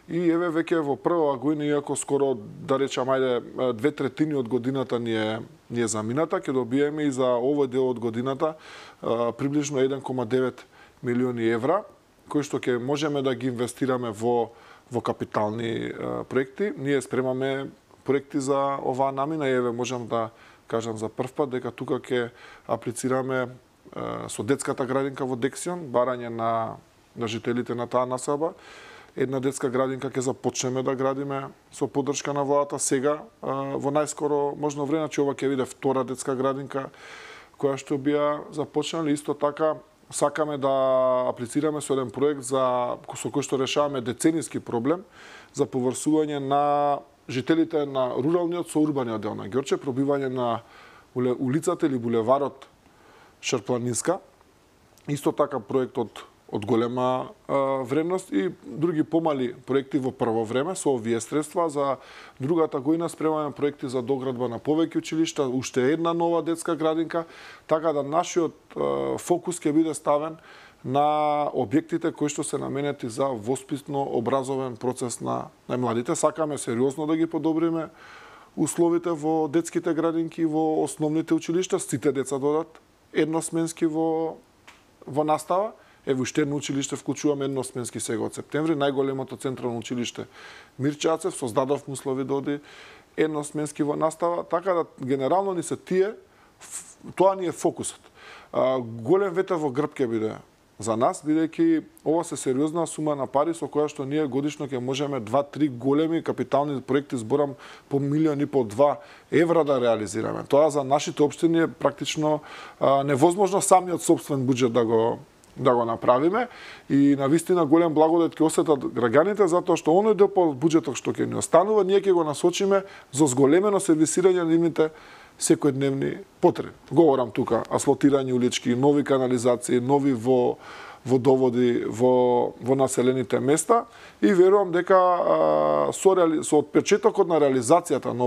Speaker 3: И еве веќе во прва година, иако скоро, да речам, ајде 2/3 од годината ни е замината, ќе добиеме и за овој дел од годината приближно 1,9 милиони евра, кои што ќе можеме да ги инвестираме во капитални проекти. Ние спремаме проекти за оваа намина и еве можам да кажам за прв пат дека тука ќе аплицираме со детската градинка во Дексион, барање на жителите на таа населба. Една детска градинка ќе започнеме да градиме со поддршка на владата сега во најскоро можно време, че ова ќе биде втора детска градинка која што би ја започнали. Исто така сакаме да аплицираме со еден проект со кој што решаваме деценијски проблем за поврсување на жителите на руралниот со урбаниот дел на Ѓорче, пробивање на улицата или булеварот Шарпланинска. Исто така проект од голема вредност и други помали проекти во прво време со овие средства. За другата година спремаме проекти за доградба на повеќе училишта, уште една нова детска градинка, така да нашиот фокус ќе биде ставен на објектите кои што се наменети за воспитно образовен процес на најмладите. Сакаме сериозно да ги подобриме условите во детските градинки во основните училишта, сите деца додат едносменски во настава. Ево уште едно училиште вклучуваме едносменски сега од септември, најголемото централно училиште Мирчацев, создадовме услови да оди едносменски во настава, така да генерално ни се тоа ни е фокусот. Голем ветер во грб ќе биде за нас, бидејќи ова се сериозна сума на пари со која што ние годишно ќе можеме 2-3 големи капитални проекти, зборам по 1,5-2 евра да реализираме. Тоа за нашите општини е практично невозможно самиот сопствен буџет да го направиме и навистина голем благодет ќе осетат граѓаните затоа што оној дел по буџетот што ќе ни останува, ние ќе го насочиме за зголемено сервисирање на нивните секојдневни потреби. Говорам тука асфалтирање улички, нови канализации, нови водоводи во населените места и верувам дека со отпечатокот на реализацијата на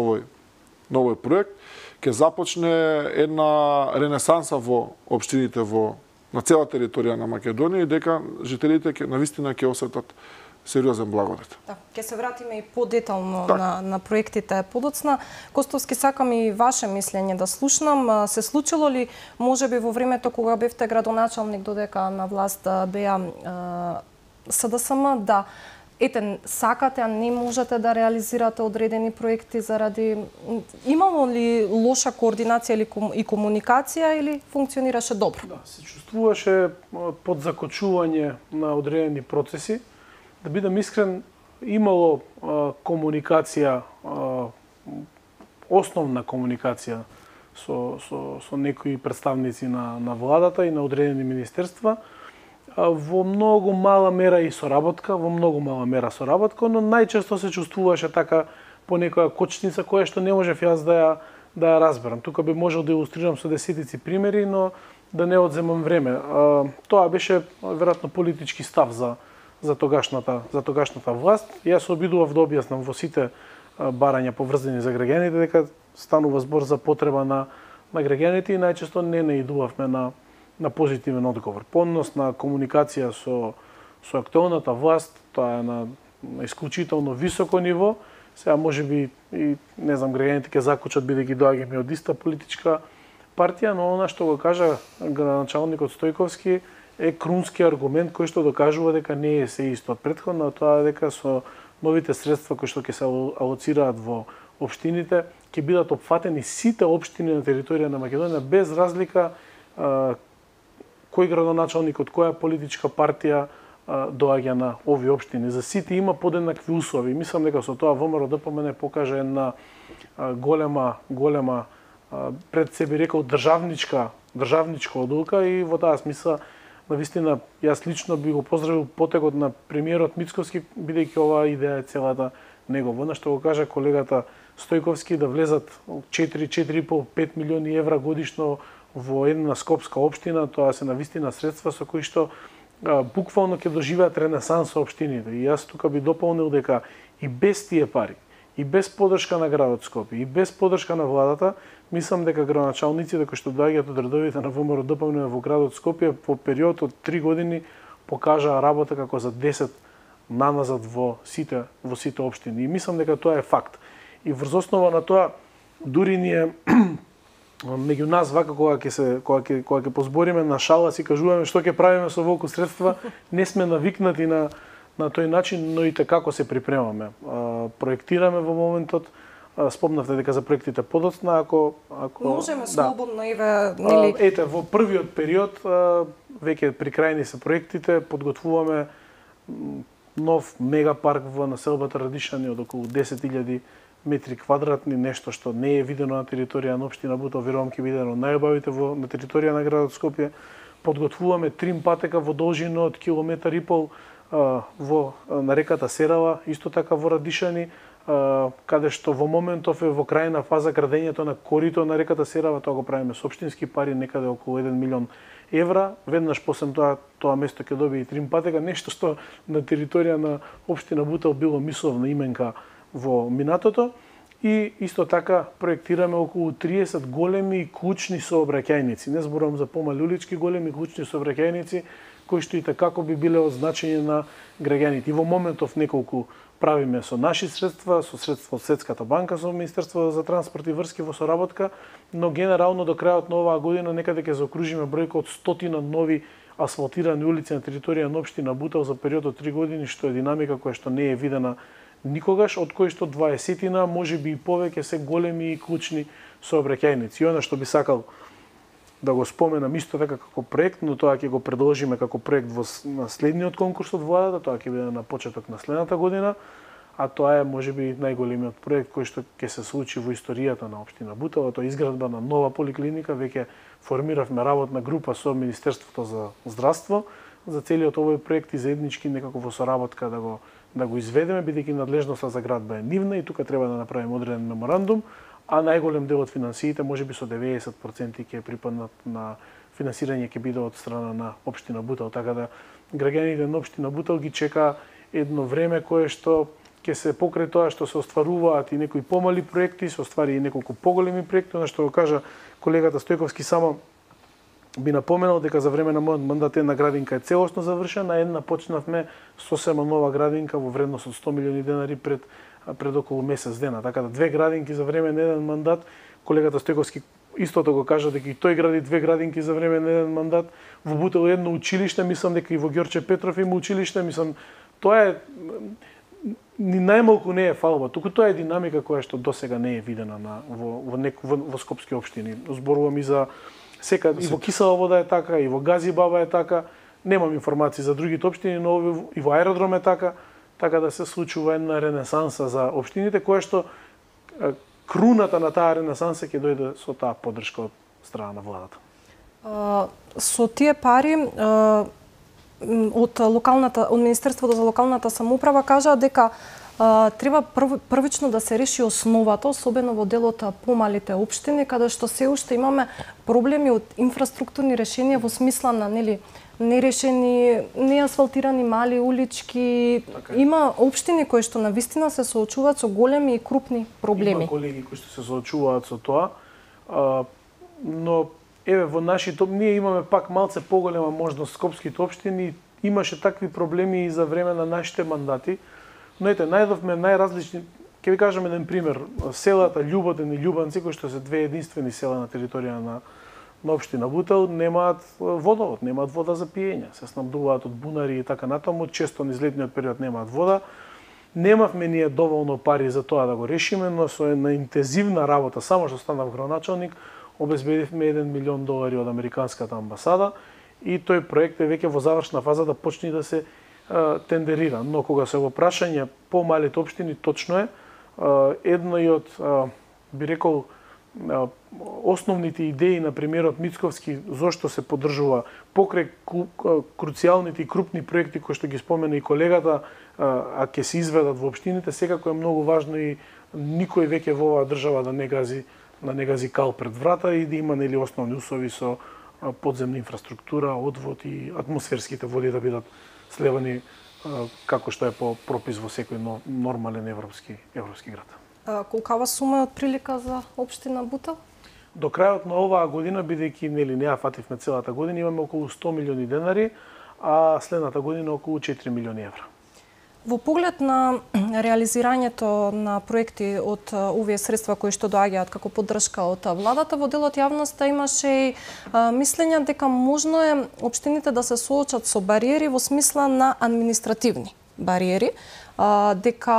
Speaker 3: овој проект ќе започне една ренесанса во општините на цела територија на Македонија и дека жителите навистина ќе осетат сериозен благодет.
Speaker 1: Да, ќе се вратиме и подетално на проектите подоцна. Костовски, сакам и ваше мислење да слушнам. Се случило ли, можеби во времето кога бевте градоначалник додека на власт беа СДСМ, да сакате, а не можете да реализирате одредени проекти заради... Имало ли лоша координација и комуникација или функционираше добро?
Speaker 2: Да, се чувствуваше подзакочување на одредени процеси. Да бидам искрен, имало комуникација, основна комуникација со некои представници на владата и на одредени министерства, во многу мала мера соработка, но најчесто се чувствуваше така по некоја кочница која што не можев јас да ја разберам. Тука би можел да илустрирам со десетици примери, но да не одземам време. Тоа беше веројатно политички став за тогашната власт. Јас се обидував да објаснам во сите барања поврзани за граѓаните дека станува збор за потреба на граѓаните и најчесто не наидувавме на позитивен одговор. Поносна комуникација со актуелната власт, тоа е на исклучително високо ниво. Сега можеби и не знам, граѓаните ќе закучат бидејќи доаѓаме од иста политичка партија, но она што го кажа градоначалникот Стојковски е крунски аргумент кој што докажува дека не е се исто од претходно, тоа е дека со новите средства кои што ќе се алоцираат во општините ќе бидат опфатени сите општини на територија на Македонија без разлика кој градоначалник од која политичка партија доаѓа на овие општини. За сите има подеднакви услови. Мислам дека со тоа ВМРО ДПМН покаже една голема пред себе рекол државничка одлука и во таа смисла навистина јас лично би го поздравил потегот на премиерот Мицковски, бидејќи оваа идеја е целата негова. Она што го кажа колегата Стојковски, да влезат 4,5-5 милиони евра годишно во една скопска општина, тоа се навистина средства со кои што буквално ќе доживеат ренесанс општините. И јас тука би дополнил дека и без тие пари, и без подршка на градот Скопје, и без подршка на владата, мислам дека градоначалниците кои што доаѓаат од редовите на ВМРО-ДПМН во градот Скопје по период од 3 години покажаа работа како за 10 наназад во сите општини. И мислам дека тоа е факт. И врз основа на тоа, дури ние меѓу нас вака кога ќе позбориме на шала си кажуваме што ќе правиме со волку средства, не сме навикнати на тој начин, но и како се припремаме. Проектираме во моментот, спомнавте дека за проектите подоцна, ако
Speaker 1: можеме слободно нели
Speaker 2: ете во првиот период веќе при крајни се проектите, подготвуваме нов мегапарк во населбата Радишани од околу 10.000 метри квадратни, нешто што не е видено на територија на општина Бутел, верувам ќе биде едно најубавите на територија на градот Скопје. Подготвуваме трим патека во должина од 1,5 километар на реката Серава, исто така во Радишани, каде што во моментов е во крајна фаза градењето на корито на реката Серава, тоа го правиме со општински пари, некаде околу 1 милион евра. Веднаш после тоа место ќе добие и трим патека, нешто што на територија на општина Бутел било мисловна именка во минатото. И исто така проектираме околу 30 големи и клучни сообраќајници. Не зборувам за помали улички, големи клучни сообраќајници кои што и такако би биле од значење на граѓаните. И во моментов неколку правиме со наши средства, со средства од Светската банка, со Министерство за транспорт и врски во соработка, но генерално до крајот на оваа година некаде ќе заокружиме бројка од 100 нови асфалтирани улици на територија на општина Бутел за период од 3 години, што е динамика која што не е видена никогаш, од кои што 20-тина, можеби и повеќе се големи и клучни сообраќајници. И она што би сакал да го споменам исто така како проект, но тоа ќе го предложиме како проект во следниот конкурс од владата, тоа ќе биде на почеток на следната година, а тоа е можеби најголемиот проект кој што ќе се случи во историјата на општина Бутел, тоа е изградба на нова поликлиника. Веќе формиравме работна група со Министерството за здравство за целиот овој проект и заеднички некако во соработка да го изведеме, бидејќи надлежноста за градба е нивна и тука треба да направиме одреден меморандум, а најголем дел од финансиите, можеби со 90% ќе припаднат на финансирање ќе биде од страна на општина Бутел, така да граѓаните на општина Бутел ги чека едно време кое што ќе се покрај тоа што се остваруваат и некои помали проекти, се оствари и неколку поголеми проекти, на што го кажа колегата Стојковски, само би напоменал дека за време на мојот мандат една градинка е целосно завршена, една почнавме сосема нова градинка во вредност од 100 милиони денари пред околу месец дена. Така да две градинки за време на еден мандат, колегата Стојковски истото го кажа дека и тој гради две градинки за време на еден мандат. Во Бутел едно училиште, мислам дека и во Ѓорче Петров има училиште, мислам тоа е ни најмалку не е фалба, туку тоа е динамика која што досега не е видена во скопски општини. Зборувам и за сека и во Кисела вода е така, и во Гази Баба е така. Немам информации за другите општини, но и во аеродром е така. Така да се случува една ренесанса за општините, која што круната на таа ренесанса ќе дојде со таа поддршка од страна на владата.
Speaker 1: Со тие пари од Министерството за локалната самоуправа кажа дека треба првично да се реши основата, особено во делот помалите општини, каде што се уште имаме проблеми од инфраструктурни решенија во смисла на нерешени, неасфалтирани мали улички. Така. Има општини кои што навистина се соочуваат со големи и крупни проблеми.
Speaker 2: Има колеги кои што се соочуваат со тоа, но еве во нашите ние имаме пак малце поголема можност скопските општини, имаше такви проблеми и за време на нашите мандати. Но ете, најдовме најразлични, ќе ви кажам еден пример, селата Љуботен и Љубанци, кои што се две единствени села на територија на општина Бутел, немаат водовод, немаат вода за пиење, се снабдуваат од бунари и така натаму, често низ летниот период немаат вода. Немавме ние доволно пари за тоа да го решиме, но со една интензивна работа, само што станав градоначалник, обезбедивме $1 милион од Американската амбасада и тој проект е веќе во завршна фаза да почне да се тендерира. Но кога се во прашање по малите општини, точно е, едно и од, би рекол, основните идеи на премиерот Мицковски зошто се поддржува покрај круцијалните и крупни проекти кои што ги спомена и колегата, а ќе се изведат во општините, секако е многу важно и никој веќе во оваа држава да не гази да не гази кал пред врата и да има нели основни услови со подземна инфраструктура, одвод и атмосферските води да бидат сливани како што е по пропис во секој нормален европски град.
Speaker 1: Колкава сума е отприлика за општина Бутел?
Speaker 2: До крајот на оваа година, бидејќи нели не ја фативме целата година, имаме околу 100 милиони денари, а следната година околу 4 милиони евра.
Speaker 1: Во поглед на реализирањето на проекти од овие средства кои што доаѓаат како поддршка од владата, во делот јавноста имаше и мислење дека можно е општините да се соочат со бариери во смисла на административни бариери, дека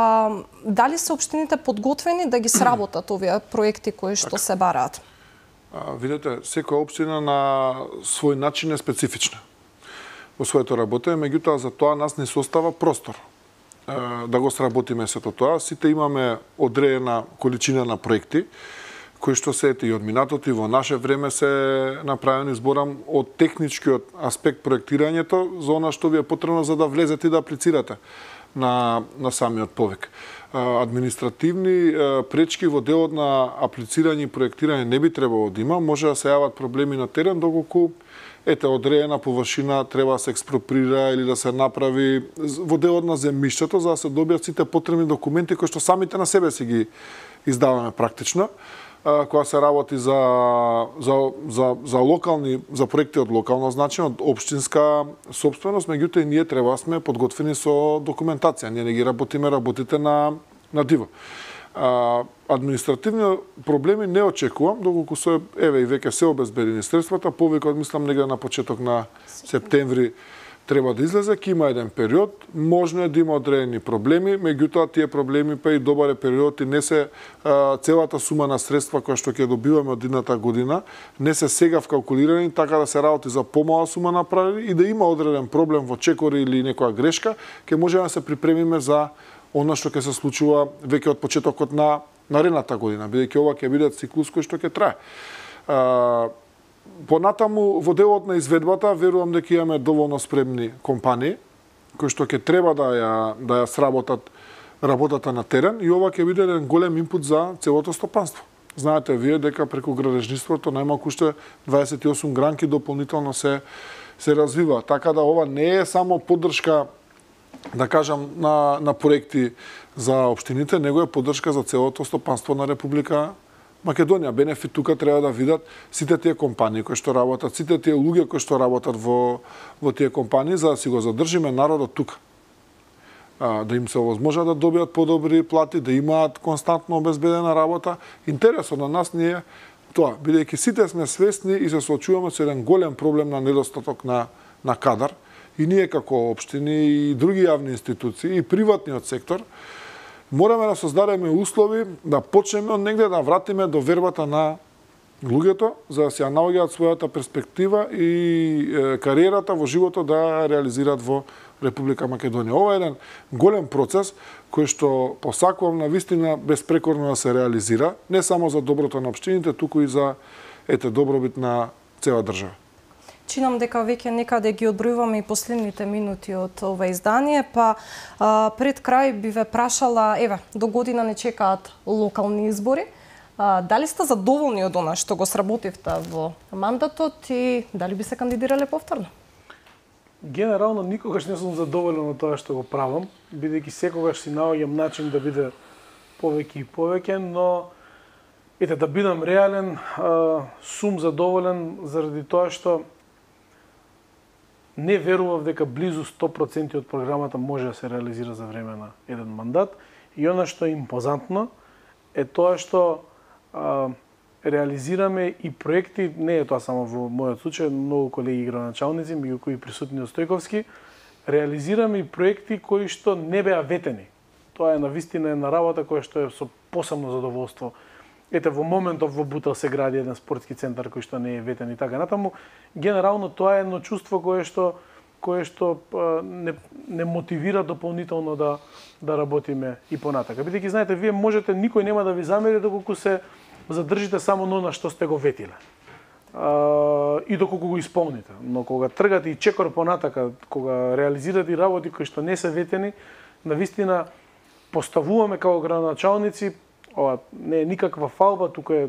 Speaker 1: дали се општините подготвени да ги сработат овие проекти кои што се бараат?
Speaker 3: Видете, секоја општина на свој начин е специфична во своето работење, меѓутоа за тоа нас не се остава простор да го сработиме сето тоа. Сите имаме одредена количина на проекти кои што се и од минатото и во наше време се направени, зборам од техничкиот аспект проектирањето за она што ви е потребно за да влезете и да аплицирате на самиот повик. Административни пречки во делот на аплицирање и проектирање не би требало да има, може да се јават проблеми на терен доколку одредена површина треба да се експроприра или да се направи во делот на земјиштето за да се добијат сите потребни документи кои што самите на себе си ги издаваме практично. Кога се работи за локални, за проекти од локална значење, од општинска сопственост, меѓутоа и ние треба да сме подготвени со документација. Ние не ги работите на диво. Административни проблеми не очекувам, доколку се и веќе се обезбедени средствата, повикот мислам негде на почеток на септември треба да излезе, ќе има еден период, можно е да има одредени проблеми, меѓутоа тие проблеми па и добар е период и не се целата сума на средства која што ќе добиваме од едната година, не се сега вкалкулирани, така да се работи за помала сума направени и да има одреден проблем во чекори или некоја грешка, ќе можеме да се припремиме за она што ќе се случува веќе од почетокот на наредната година, бидејќи ова ќе биде циклус кој што ќе трае. Понатаму, во делот на изведбата, верувам дека имаме доволно спремни компании, кои што ќе треба да ја сработат работата на терен и ова ќе биде еден голем инпут за целото стопанство. Знаете вие дека преку градежниството најмалку уште 28 гранки дополнително се развива, така да ова не е само поддршка, да кажам, на проекти за општините, него е поддршка за целото стопанство на Република Македонија. Бенефит тука треба да видат сите тие компании кои што работат, сите тие луѓе кои што работат во тие компании, за да си го задржиме народот тука. Да им се овозможа да добијат подобри плати, да имаат константно обезбедена работа. Интересот на нас не е тоа, бидејќи сите сме свесни и се соочуваме со еден голем проблем на недостаток на кадар, и ние како општини и други јавни институции и приватниот сектор мораме да создадеме услови да почнеме од негде да вратиме довербата на луѓето за да се ја наоѓаат својата перспектива и кариерата во животот да реализираат во Република Македонија. Ова е еден голем процес кој што посакувам на вистина безпрекорно да се реализира, не само за доброто на општините, туку и за добробит на цела држава.
Speaker 1: Чинам дека веќе некаде ги одбројуваме и последните минути од ова издание, па пред крај би ве прашала, до година не чекаат локални избори. Дали сте задоволни од она што го сработивте во мандатот и дали би се кандидирале повторно?
Speaker 2: Генерално никогаш не сум задоволен од тоа што го правам, бидејќи секогаш си наоѓам начин да биде повеќе и повеќе, но да бидам реален, сум задоволен заради тоа што не верував дека близу 100% од програмата може да се реализира за време на еден мандат. И она што е импозантно е тоа што реализираме и проекти, не е тоа само во мојот случај, многу колеги градоначалници, меѓу кои присутни од Стојковски, реализираме и проекти кои што не беа ветени. Тоа е навистина една работа која што е со посебно задоволство. Во моментов во Бутел се гради еден спортски центар кој што не е ветен и така натаму. Генерално тоа е едно чувство кое што не мотивира дополнително да работиме и понатака. Бидејќи знаете, вие можете, никој нема да ви замери доколку се задржите само на што сте го ветиле. И доколку го исполните. Но кога тргате и чекор понатака, кога реализирате и работи кои што не се ветени, навистина поставуваме како градоначалници ова не е никаква фалба, тука е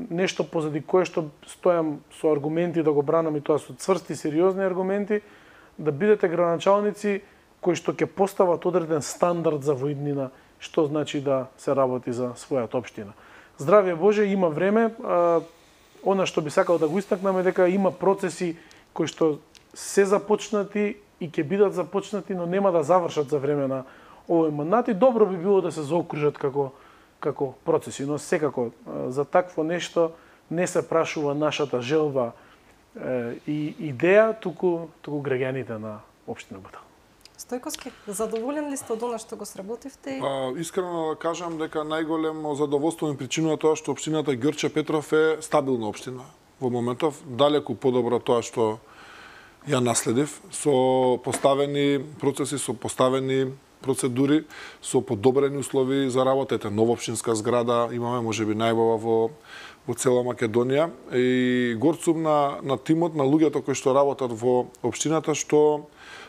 Speaker 2: нешто позади кое што стојам со аргументи да го бранам, и тоа со цврсти, сериозни аргументи, да бидете градоначалници кои што ќе постават одреден стандард за во иднина, што значи да се работи за својата општина. Здравје Боже, има време. Она што би сакал да го истакнам е дека има процеси кои што се започнати и ќе бидат започнати, но нема да завршат за време на овој мандат, и добро би било да се заокружат како процеси, но секако за такво нешто не се прашува нашата желба и идеја, туку граѓаните на општина Бутал.
Speaker 1: Стојковски, задоволен ли сте од она што го сработивте?
Speaker 3: Искрено да кажам дека најголемо задоволство ми причинува тоа што општината Ѓорче Петров е стабилна општина. Во моментов далеку подобро тоа што ја наследив, со поставени процеси, со поставени процедури, со подобрени услови за работа. Ете, нова општинска зграда имаме, можеби најбава во цела Македонија, и горцум на тимот, на луѓето кои што работат во општината, што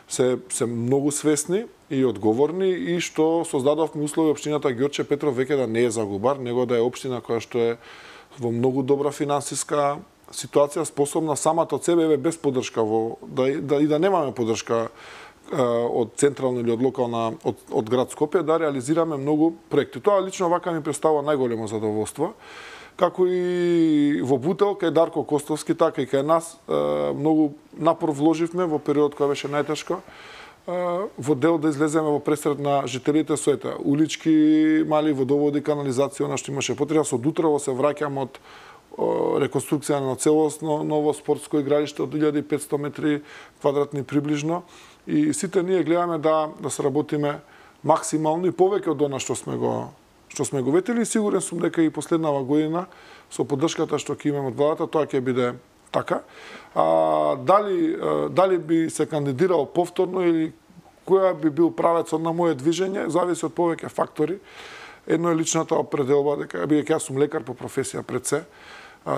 Speaker 3: се многу свесни и одговорни, и што создадовме услови општината Ѓорче Петров веќе да не е загубар, него да е општина која што е во многу добра финансиска ситуација, способна самата од себе, без поддршка, да немаме поддршка од централна или од локална, од град Скопје, да реализираме многу проекти. Тоа лично вака ми представува најголемо задоволство. Како и во Бутел, кај Дарко Костовски, така и кај нас, многу напор вложивме во период кој беше најтешко, во дел да излеземе во пресред на жителите со улички, мали водоводи, канализација, она што имаше потреба. Со утрово се враќам од реконструкција на целосно ново спортско игралиште од 1500 метри квадратни приближно, и сите ние гледаме да сработиме максимално и повеќе од она што сме го ветили. Сигурен сум дека и последнава година со поддршката што ќе имаме од владата, тоа ќе биде така. Дали би се кандидирал повторно или која би бил правецот на моје движење, зависи од повеќе фактори. Едно е личната определба, дека бидејќи јас сум лекар по професија пред се,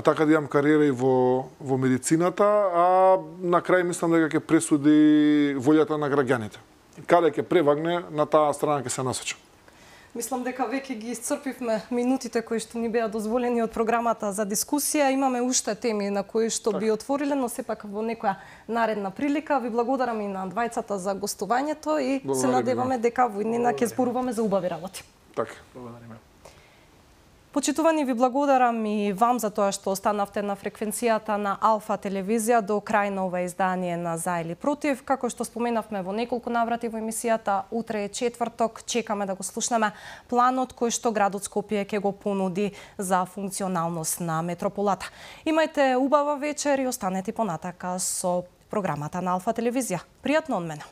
Speaker 3: така да имам кариера и во медицината, а на крај мислам дека ќе пресуди волјата на граѓаните. Каде ќе превагне, на таа страна ќе се насочам.
Speaker 1: Мислам дека веќе ги исцрпивме минутите кои што ни беа дозволени од програмата за дискусија. Имаме уште теми на кои што би отвориле, но сепак во некоја наредна прилика. Ви благодарам и на двајцата за гостувањето и се надеваме дека во иднина ќе зборуваме за убави работи.
Speaker 3: Така.
Speaker 2: Благодариме.
Speaker 1: Почитувани, ви благодарам и вам за тоа што останавте на фреквенцијата на Алфа телевизија до крај на ова издание на За или против. Како што споменавме во неколку наврати во емисијата, утре е четврток, чекаме да го слушнеме планот кој што градот Скопје ќе го понуди за функционалност на метрополата. Имајте убава вечер и останете понатака со програмата на Алфа телевизија. Пријатно од мене.